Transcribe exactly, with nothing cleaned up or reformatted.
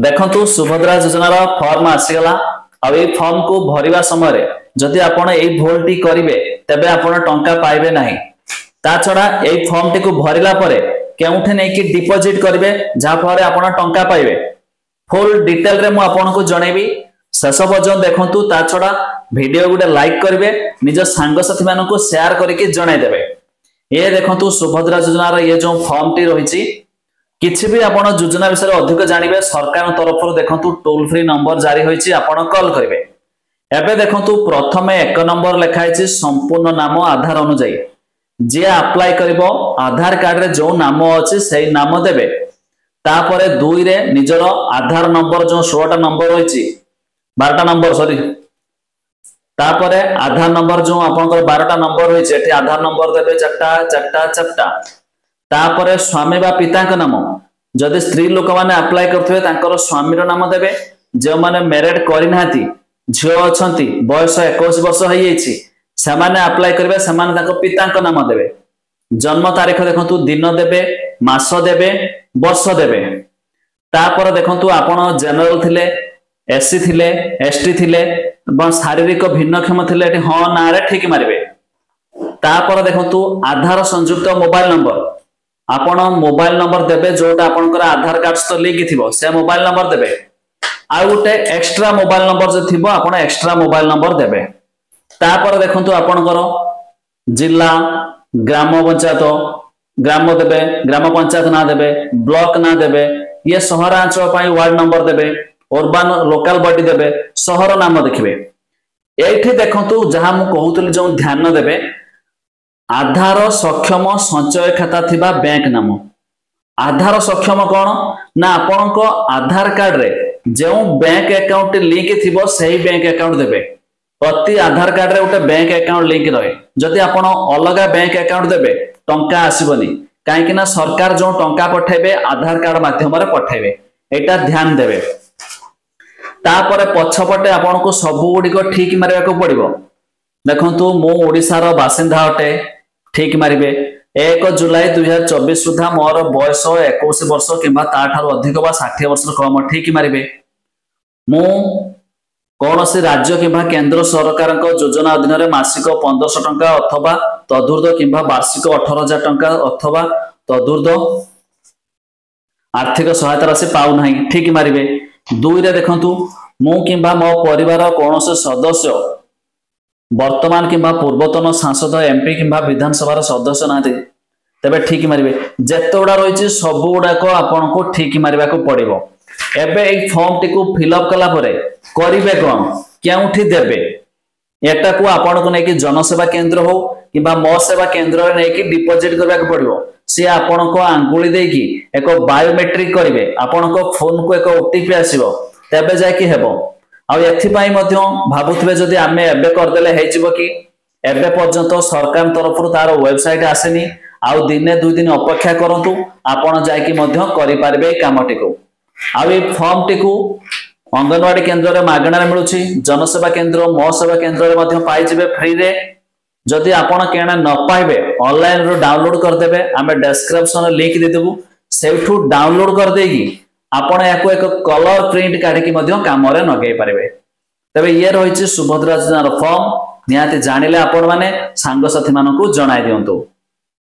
ଦେଖନ୍ତୁ, ସୁଭଦ୍ରା ଯୋଜନାର ଫର୍ମ ଆସିଗଲା। ଆଉ ଏଇ ଫର୍ମକୁ ଭରିବା ସମୟରେ ଯଦି ଆପଣ ଏଇ ଭୁଲଟି କରିବେ, ତେବେ ଆପଣ ଟଙ୍କା ପାଇବେ ନାହିଁ। ତା ଛଡା ଏଇ ଫର୍ମଟିକୁ ଭରିଲା ପରେ କେଉଁଠି ନେଇକି ଡିପୋଜିଟ୍ କରିବେ, ଯାହାଫଳରେ ଆପଣ ଟଙ୍କା ପାଇବେ, ଫୁଲ ଡିଟେଲରେ ମୁଁ ଆପଣଙ୍କୁ ଜଣେଇବି। ଶେଷ ପର୍ଯ୍ୟନ୍ତ ଦେଖନ୍ତୁ। ତା ଛଡା ଭିଡିଓ ଗୋଟେ ଲାଇକ୍ କରିବେ, ନିଜ ସାଙ୍ଗସାଥି ମାନଙ୍କୁ ସେୟାର କରିକି ଜଣାଇଦେବେ। ଇଏ ଦେଖନ୍ତୁ, ସୁଭଦ୍ରା ଯୋଜନାର ଇଏ ଯୋଉ ଫର୍ମଟି ରହିଛି। କିଛି ବି ଆପଣ ଯୋଜନା ବିଷୟରେ ଅଧିକ ଜାଣିବେ, ସରକାରଙ୍କ ତରଫରୁ ଦେଖନ୍ତୁ ଟୋଲ ଫ୍ରି ନମ୍ବର ଜାରି ହୋଇଛି, ଆପଣ କଲ୍ କରିବେ। ଏବେ ଦେଖନ୍ତୁ, ପ୍ରଥମେ ଏକ ନମ୍ବର ଲେଖା ହେଇଛି ସମ୍ପୂର୍ଣ୍ଣ ନାମ ଆଧାର ଅନୁଯାୟୀ। ଯିଏ ଆପ୍ଲାଏ କରିବ, ଆଧାର କାର୍ଡରେ ଯୋଉ ନାମ ଅଛି ସେଇ ନାମ ଦେବେ। ତାପରେ ଦୁଇରେ ନିଜର ଆଧାର ନମ୍ବର, ଯୋଉ ଷୋହଳଟା ନମ୍ବର ରହିଛି, ବାରଟା ନମ୍ବର ସରି। ତାପରେ ଆଧାର ନମ୍ବର ଯୋଉ ଆପଣଙ୍କର ବାରଟା ନମ୍ବର ରହିଛି, ଏଠି ଆଧାର ନମ୍ବର ଦେବେ, ଚାରିଟା, ଚାରିଟା, ଚାରିଟା। ତାପରେ ସ୍ୱାମୀ ବା ପିତାଙ୍କ ନାମ। ଯଦି ସ୍ତ୍ରୀ ଲୋକମାନେ ଆପ୍ଲାଏ କରୁଥିବେ, ତାଙ୍କର ସ୍ୱାମୀର ନାମ ଦେବେ। ଯେଉଁମାନେ ମ୍ୟାରେଡ କରିନାହାନ୍ତି, ଝିଅ ଅଛନ୍ତି, ବୟସ ଏକୋଇଶ ବର୍ଷ ହେଇଯାଇଛି, ସେମାନେ ଆପ୍ଲାଏ କରିବେ, ସେମାନେ ତାଙ୍କ ପିତାଙ୍କ ନାମ ଦେବେ। ଜନ୍ମ ତାରିଖ ଦେଖନ୍ତୁ, ଦିନ ଦେବେ, ମାସ ଦେବେ, ବର୍ଷ ଦେବେ। ତାପରେ ଦେଖନ୍ତୁ, ଆପଣ ଜେନେରାଲ ଥିଲେ, ଏସସି ଥିଲେ, ଏସଟି ଥିଲେ ଏବଂ ଶାରୀରିକ ଭିନ୍ନକ୍ଷମ ଥିଲେ, ଏଠି ହଁ ନାଁରେ ଠିକ ମାରିବେ। ତାପରେ ଦେଖନ୍ତୁ, ଆଧାର ସଂଯୁକ୍ତ ମୋବାଇଲ ନମ୍ବର। ଆପଣ ମୋବାଇଲ ନମ୍ବର ଦେବେ, ଯୋଉଟା ଆପଣଙ୍କର ଆଧାର କାର୍ଡ ସହିତ ଲିଙ୍କ ଥିବ, ସେ ମୋବାଇଲ ନମ୍ବର ଦେବେ। ଆଉ ଗୋଟେ ଏକ୍ସଟ୍ରା ମୋବାଇଲ ନମ୍ବର ଯଦି ଥିବ, ଆପଣ ଏକ୍ସଟ୍ରା ମୋବାଇଲ ନମ୍ବର ଦେବେ। ତାପରେ ଦେଖନ୍ତୁ, ଆପଣଙ୍କର ଜିଲ୍ଲା, ଗ୍ରାମ ପଞ୍ଚାୟତ, ଗ୍ରାମ ଦେବେ, ଗ୍ରାମ ପଞ୍ଚାୟତ ନାଁ ଦେବେ, ବ୍ଲକ ନାଁ ଦେବେ। ଇଏ ସହରାଞ୍ଚଳ ପାଇଁ ୱାର୍ଡ ନମ୍ବର ଦେବେ, ଅର୍ବାନ ଲୋକାଲ ବଡି ଦେବେ, ସହର ନାମ ଦେଖିବେ। ଏଇଠି ଦେଖନ୍ତୁ, ଯାହା ମୁଁ କହୁଥିଲି, ଯୋଉ ଧ୍ୟାନ ଦେବେ, ଆଧାର ସକ୍ଷମ ସଞ୍ଚୟ ଖାତା ଥିବା ବ୍ୟାଙ୍କ ନାମ। ଆଧାର ସକ୍ଷମ କଣ ନା ଆପଣଙ୍କ ଆଧାର କାର୍ଡରେ ଯେଉଁ ବ୍ୟାଙ୍କ ଆକାଉଣ୍ଟ ଲିଙ୍କ ଥିବ, ସେଇ ବ୍ୟାଙ୍କ ଆକାଉଣ୍ଟ ଦେବେ। ପ୍ରତି ଆଧାର କାର୍ଡରେ ଗୋଟେ ବ୍ୟାଙ୍କ ଆକାଉଣ୍ଟ ଲିଙ୍କ ରହେ। ଯଦି ଆପଣ ଅଲଗା ବ୍ୟାଙ୍କ ଆକାଉଣ୍ଟ ଦେବେ, ଟଙ୍କା ଆସିବନି। କାହିଁକି ନା ସରକାର ଯୋଉ ଟଙ୍କା ପଠେଇବେ, ଆଧାର କାର୍ଡ ମାଧ୍ୟମରେ ପଠେଇବେ। ଏଇଟା ଧ୍ୟାନ ଦେବେ। ତାପରେ ପଛପଟେ ଆପଣଙ୍କୁ ସବୁ ଗୁଡିକ ଠିକ ମାରିବାକୁ ପଡିବ। ଦେଖନ୍ତୁ, ମୁଁ ଓଡିଶାର ବାସିନ୍ଦା ଅଟେ, ଠିକ ମାରିବେ। ଏକ ଜୁଲାଇ ଦୁଇ ହଜାର ଚବିଶ ସୁଦ୍ଧା ମୋର ବୟସ ଏକୋଇଶ ବର୍ଷ କିମ୍ବା ତାଠାରୁ ଅଧିକ ବା ଷାଠିଏ ବର୍ଷରୁ କମ, ଠିକ ମାରିବେ। ମୁଁ କୌଣସି ରାଜ୍ୟ କିମ୍ବା କେନ୍ଦ୍ର ସରକାରଙ୍କ ଯୋଜନା ଅଧୀନରେ ମାସିକ ପନ୍ଦରଶହ ଟଙ୍କା ଅଥବା ତଦୁର୍ଦ୍ଧ କିମ୍ବା ବାର୍ଷିକ ଅଠର ହଜାର ଟଙ୍କା ଅଥବା ତଦୁର୍ଦ୍ଧ ଆର୍ଥିକ ସହାୟତା ରାଶି ପାଉନାହିଁ, ଠିକ ମାରିବେ। ଦୁଇରେ ଦେଖନ୍ତୁ, ମୁଁ କିମ୍ବା ମୋ ପରିବାର କୌଣସି ସଦସ୍ୟ ବର୍ତ୍ତମାନ କିମ୍ବା ପୂର୍ବତନ ସାଂସଦ, ଏମପି କିମ୍ବା ବିଧାନସଭାର ସଦସ୍ୟ ନାହାନ୍ତି, ତେବେ ଠିକ ମାରିବେ। ଯେତେ ଗୁଡା ରହିଛି, ସବୁ ଗୁଡାକ ଆପଣଙ୍କୁ ଠିକ ମାରିବାକୁ ପଡିବ। ଏବେ ଏଇ ଫର୍ମଟିକୁ ଫିଲଅପ୍ କଲା ପରେ କରିବେ କଣ, କେଉଁଠି ଦେବେ? ଏଟାକୁ ଆପଣଙ୍କୁ ନେଇକି ଜନସେବା କେନ୍ଦ୍ର ହଉ କିମ୍ବା ମୋ ସେବା କେନ୍ଦ୍ରରେ ନେଇକି ଡିପୋଜିଟ୍ କରିବାକୁ ପଡିବ। ସିଏ ଆପଣଙ୍କ ଆଙ୍ଗୁଳି ଦେଇକି ଏକ ବାୟୋମେଟ୍ରିକ କରିବେ, ଆପଣଙ୍କ ଫୋନକୁ ଏକ ଓଟିପି ଆସିବ, ତେବେ ଯାଇକି ହେବ। ଆଉ ଏଥିପାଇଁ ମଧ୍ୟ ଭାବୁଥିବେ, ଯଦି ଆମେ ଏବେ କରିଦେଲେ ହେଇଯିବ କି? ଏବେ ପର୍ଯ୍ୟନ୍ତ ସରକାର ତରଫରୁ ତାର ୱେବସାଇଟ ଆସିନି। ଆଉ ଦିନେ ଦୁଇ ଦିନ ଅପେକ୍ଷା କରନ୍ତୁ, ଆପଣ ଯାଇକି ମଧ୍ୟ କରିପାରିବେ ଏଇ କାମଟିକୁ। ଆଉ ଏଇ ଫର୍ମଟିକୁ ଅଙ୍ଗନବାଡି କେନ୍ଦ୍ରରେ ମାଗଣାରେ ମିଳୁଛି, ଜନସେବା କେନ୍ଦ୍ର, ମୋ ସେବା କେନ୍ଦ୍ରରେ ମଧ୍ୟ ପାଇଯିବେ ଫ୍ରିରେ। ଯଦି ଆପଣ କେଣେ ନ ପାଇବେ, ଅନଲାଇନରୁ ଡାଉନଲୋଡ କରିଦେବେ। ଆମେ ଡେସ୍କ୍ରିପସନରେ ଲିଙ୍କ ଦେଇଦେବୁ। ସେଇଠୁ ଡାଉନଲୋଡ କରିଦେଇକି ଆପଣ ଏହାକୁ ଏକ କଲର ପ୍ରିଣ୍ଟ କାଢିକି ମଧ୍ୟ କାମରେ ଲଗେଇ ପାରିବେ। ତେବେ ଇଏ ରହିଛି ସୁଭଦ୍ରା ଯୋଜନାର ଫର୍ମ। ନିହାତି ଜାଣିଲେ ଆପଣମାନେ, ସାଙ୍ଗସାଥି ମାନଙ୍କୁ ଜଣାଇ ଦିଅନ୍ତୁ।